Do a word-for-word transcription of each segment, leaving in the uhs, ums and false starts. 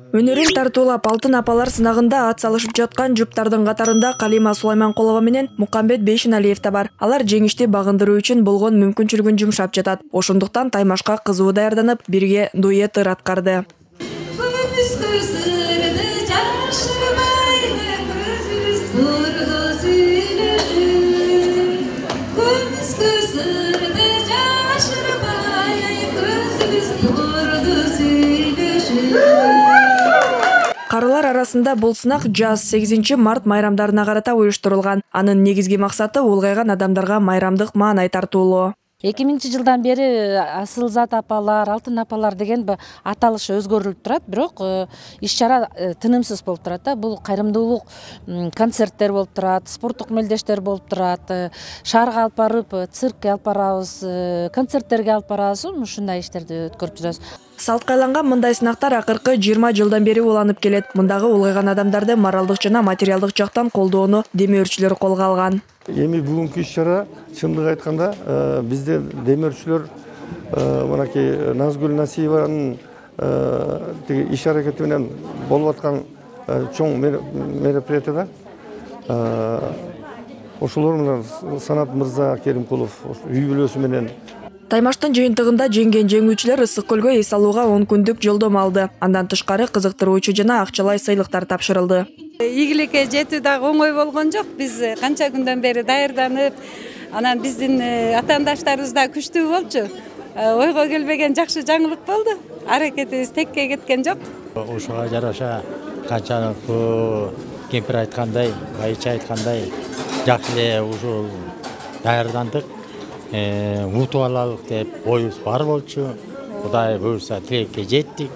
Өнөрүн тартуулап алтын апалар сынагында ат салышып жаткан жуптардын катарында Калима Сулайманкулова менен Мукамбет Бейшеналиев да бар. Алар жеңишти багындыруу үчүн болгон мүмкүнчүлүгүн жумшап жатат. Ошондуктан таймашка кызуу даярданып, бирге дуэт ыр аткарды. Карылар арасында бул сынак жаз сегизинчи март майрамдарына карата уюштурулган. Анын негизги максаты улгайган адамдарга майрамдык маанай тартуулоо. эки миңинчи жылдан бери Асылзат апалар, Алтын апалар деген аталышы өзгөрүлүп турат, бирок иш-чара тынымсыз болуп турат да. Бул кайрымдуулук концерттер болуп турат, спорттук мелдештер болуп турат, шаарга алып барып, циркке алып барабыз, концерттерге алып барабыз, ушундай иштерди өткөрүп жүрөбүз. Салтка айланган мындай сынактар акыркы жыйырма жылдан бери уланып келет. Мындагы улгайган адамдарды моралдык жана материалдык жактан колдоону демөөрчүлөр колго алган. Эми бүгүнкү иш-чара чындыгын айтканда бизде демөөрчүлөр мынакей Назгүл Насиеванын тиги иш аракети менен болуп аткан чоң мероприятияда ошолор менен Санат Мырза Керимкулов үй бүлөсү менен Таймаштын жыйынтыгында жеңген жеңүүчүлөр Ысык көлгө эс алууга он күндүк жолдомо алды. Андан тышкары кызыктыруучу жана акчалай сыйлыктар тапшырылды. Ийгиликке жетүү дагы оңой болгон жок. Биз канча күндөн бери даярданып, анан биздин атаандаштарыбыз да күчтүү болчу. Ойго келбеген жакшы жаңылык болду. Аракетибиз текке кеткен жок. Ошого жараша канчалык кемпир айткандай, айча айткандай жакшы эле ушул даярдандык. Утуп алалык деп оюбуз бар болчу. Кудай буйруса тилекке жеттик.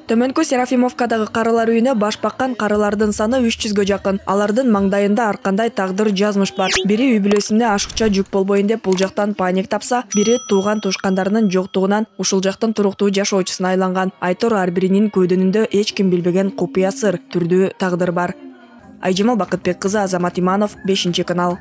Төмөнкү Серафимовкадагы карылар үйүнө баш баккан карылардын саны үч жүзгө жакын. Алардын маңдайында ар кандай тагдыр жазмыш бар. Бири үй бүлөсүнө ашыкча жүк болбойн деп бул жактан паник тапса, бири тууган тушкандарынын жоктугунан ушул жактын туруктуу жашоочусуна айланган. Айтор ар биринин көөдөнүндө эч ким билбеген купуя сыр, түрдүү тагдыр бар. Айжамал Бакытбек кызы, Азамат Иманов, бешинчи канал.